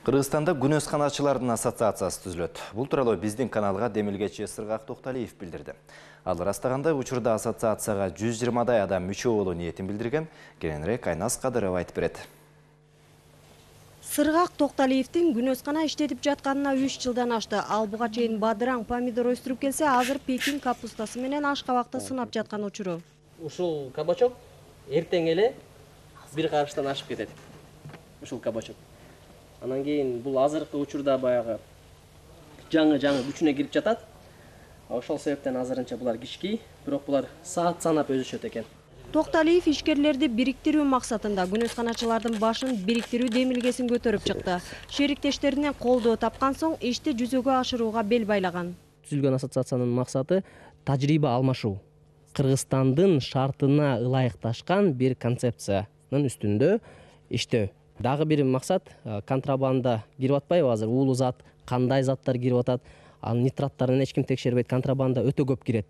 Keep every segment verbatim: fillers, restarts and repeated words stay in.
Кыргызстанда күнөсканачылардын ассоциациясы түзүлөт. Бул тууралуу биздин каналга демилгечи Сыргак Токталиев билдирди. Ал ырастаганда учурда ассоциацияга жүз жыйырмадай адам мүчө болуу ниетин билдирген. Кененирээк Айназ Кадырова айтып берет. Сыргак Токталиевдин күнөскана иштетип жатканына үч жылдан ашты. Ал буга чейин бадыраң помидор өстүрүп келсе, азыр пекин капустасы менен ашкабакты сынап жаткан учуру. Ушул кабачок эртең эле бир карыштан ашып кетет. Ушул кабачок. Анан кийин бул азыркы учурда баягы жаңы-жаңы күчүнө кирип жатат. Ошол себептен азырынча булар кички, бирок булар саат санап өсүшөт экен. Токталиев ишкерлерди бириктирүү максатында күнөсканачылардын башын бириктирүү демилгесин көтөрүп чыкты. Шериктештеринен колдоо тапкан соң ишти жүзөгө ашырууга бел байлаган. Түзүлгөн ассоциациянын максаты тажрыйба алмашуу. Кыргызстандын шартына ылайыкташкан бир концепциянын үстүндө иштөө. Дагы бир максат контрабанда кирип атпайбы азыр, уулуу зат, кандай заттар кирип атат, анын нитраттарын эч ким текшербейт, контрабанда өтө көп кирет.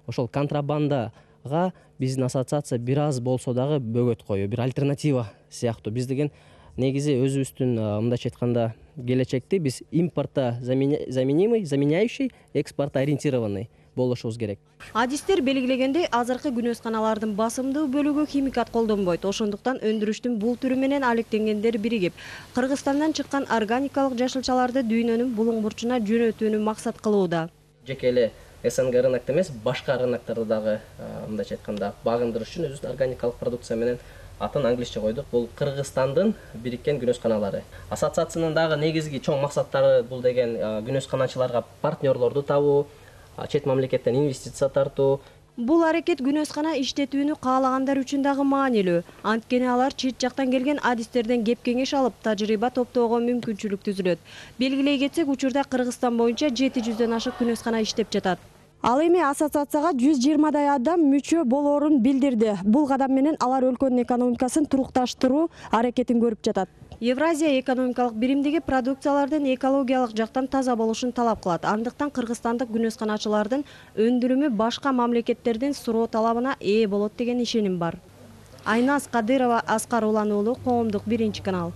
Ошол контрабандага биздин ассоциация бир аз болсо дагы бөгөт коюу, бир альтернатива сыяктуу. Биз деген негизи өзүбүздүн мындайча айтканда келечекти биз импорта заменимый, заменяющий, экспорт ориентированный болушубуз керек. Адистер белгилегендей, азыркы күнөсканалардын басымдуу бөлүгү химикат колдонбойт. Ошондуктан өндүрүштүн бул түрү менен алектенгендер биригип, Кыргызстандан чыккан органикалык жашылчаларды дүйнөнүн булуң бурчуна жөнөтүүнү максат кылууда. Жеке эле СНГ рынокто эмес, башка рыноктарды дагы мындайча айтканда багындырыш үчүн өзүбүздүн органикалык продукция менен атын англисче койдук. Бул Кыргызстандын бириккен күнөсканалары. Ассоциациянын дагы негизги чоң максаттары бул деген күнөсканачыларга партнерлорду табуу, чет мамлекеттен инвестиция тартуу. Бул аракет күнөскана иштетүүнү каалагандар үчүн дагы маанилүү. Анткени алар чет жактан келген адистерден кеп кеңеш алып, тажрыйба топтоого мүмкүнчүлүк түзүлөт. Белгилей кетсек, учурда Кыргызстан боюнча жети жүздөн ашык күнөскана иштеп жатат. Ал эми ассоциацияга жүз жыйырмадай адам мүчө болоорун билдирди. Бул кадам менен алар өлкөнүн экономикасын турукташтыруу аракетин көрүп жатат. Евразия экономикалык биримдиги продукциялардын экологиялык жактан таза болушун талап кылат. Андыктан кыргызстандык күнөсканачылардын өндүрүмү башка мамлекеттердин суроо талабына ээ болот деген ишеним бар. Айназ Кадырова, Аскар Улан уулу, Коомдук биринчи канал.